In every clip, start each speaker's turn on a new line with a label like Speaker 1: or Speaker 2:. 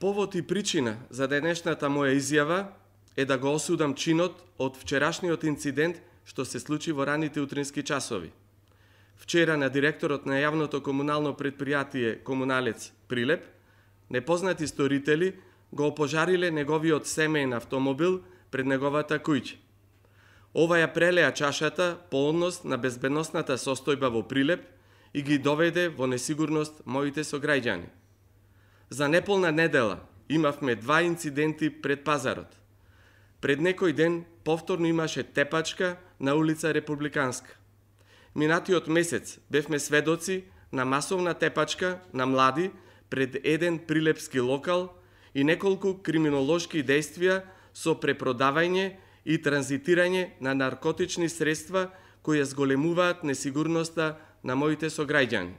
Speaker 1: Повод и причина за денешната моја изјава е да го осудам чинот од вчерашниот инцидент што се случи во раните утрински часови. Вчера на директорот на јавното комунално предпријатие Комуналец Прилеп, непознати сторители го опожариле неговиот семеен автомобил пред неговата куќа. Ова ја прелеа чашата по однос на безбедносната состојба во Прилеп и ги доведе во несигурност моите сограѓани. За неполна недела имавме 2 инциденти пред пазарот. Пред некој ден повторно имаше тепачка на улица Републиканска. Минатиот месец бевме сведоци на масовна тепачка на млади пред еден прилепски локал и неколку криминолошки дејствија со препродавање и транзитирање на наркотични средства кои ја зголемуваат несигурноста на моите сограѓани.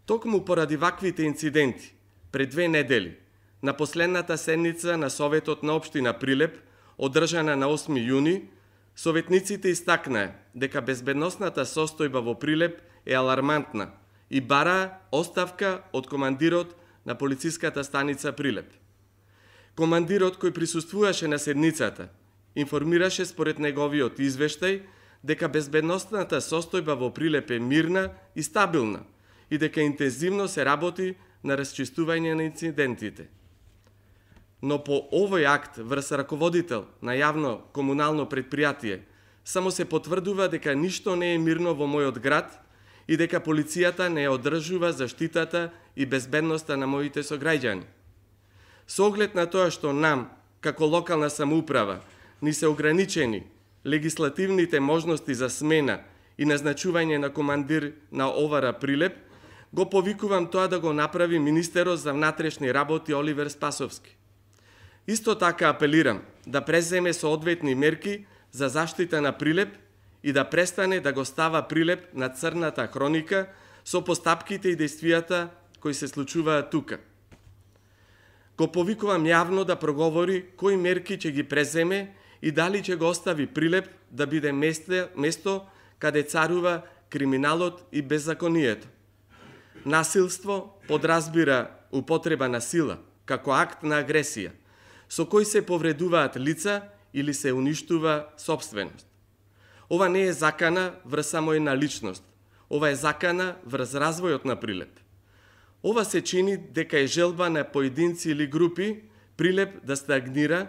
Speaker 1: Токму поради ваквите инциденти, пред 2 недели, на последната седница на Советот на Општина Прилеп, одржана на 8 јуни, советниците истакнаа дека безбедносната состојба во Прилеп е алармантна и бараа оставка од командирот на полициската станица Прилеп. Командирот кој присуствуваше на седницата информираше според неговиот извештај дека безбедносната состојба во Прилеп е мирна и стабилна и дека интензивно се работи на расчистување на инцидентите. Но по овој акт врз раководител на јавно комунално предпријатие само се потврдува дека ништо не е мирно во мојот град и дека полицијата не ја одржува заштитата и безбедноста на моите сограѓани. Со оглед на тоа што нам, како локална самоуправа, ни се ограничени легислативните можности за смена и назначување на командир на ОВР Прилеп, го повикувам тоа да го направи министерот за внатрешни работи Оливер Спасовски. Исто така апелирам да преземе соодветни мерки за заштита на Прилеп и да престане да го става Прилеп на црната хроника со постапките и дејствијата кои се случуваат тука. Го повикувам јавно да проговори кои мерки ќе ги преземе и дали ќе го остави Прилеп да биде место каде царува криминалот и беззаконието. Насилство подразбира употреба на сила како акт на агресија, со кој се повредуваат лица или се уништува сопственост. Ова не е закана врз само една личност, ова е закана врз развојот на Прилеп. Ова се чини дека е желба на поединци или групи Прилеп да стагнира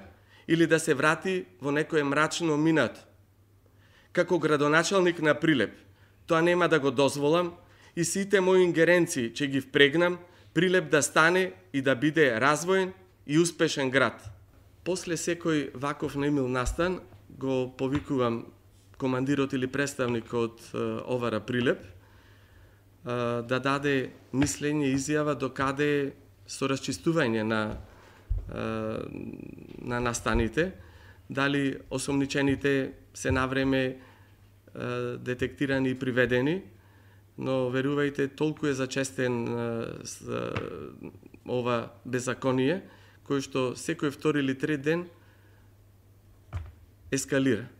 Speaker 1: или да се врати во некое мрачно минато. Како градоначалник на Прилеп, тоа нема да го дозволам и сите мои ингеренции ќе ги впрегнам Прилеп да стане и да биде развоен и успешен град. После секој ваков немил настан го повикувам командирот или представникот ОВР Прилеп да даде мислење и изјава докаде со расчистување на настаните, дали осомничените се навреме детектирани и приведени, но верувајте, толку е зачестен ова беззаконие, кој што секој втори или трет ден ескалира.